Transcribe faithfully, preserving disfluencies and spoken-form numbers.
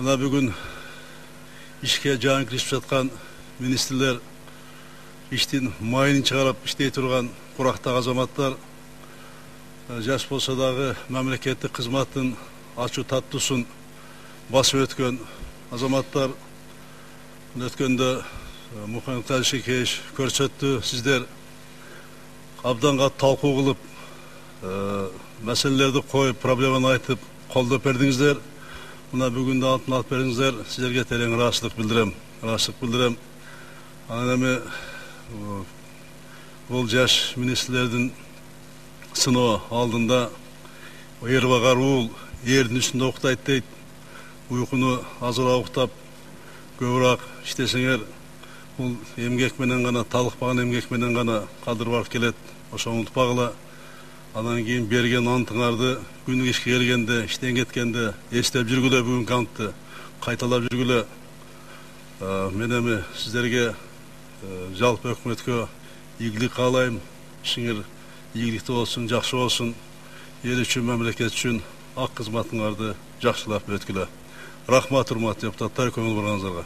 Мына бүгүн ишке жаңы кирип жаткан министрлер, иштин майын чыгарып иштей турган курактагы азаматтар, жаш болсо дагы мамлекеттик кызматтын ачуу таттуусун басып өткөн азаматтар, өткөндө Мухаммед Калишекевич көрсөттү. Сиздер абданга талкуу кылып, маселелерди коюп, проблеманы айтып, колдоп бердиңиздер. Мына бүгүн да алтын алып бериңиздер. Сиздерге терең ыраазычылык билдирем. Ыраазычылык билдирем. Анан эми бул жаш министрлердин сыноо алдында эр багар уул эрдин үстүндө уктайт дейт. Уйкуну азыраак уктап, көбүрөөк иштесеңер, бул эмгек менен гана, талыкпаган эмгек менен гана кадыр барып келет. Ошону унутпагыла. Анан кийин берген антыңарды күнү ишке келгенде, иштен кеткенде эстеп жүргүлө, бүгүнкү антты кайталап жүргүлө. Мен эми сиздерге, жалпы өкмөткө ийгилик каалайм. Ишиңер ийгиликтүү болсун, жакшы болсун. Эл үчүн, мамлекет үчүн ак кызматыңарды жакшылап өткүлө. Рахмат, урматтуу депутаттар, көңүл бурганыңыздарга.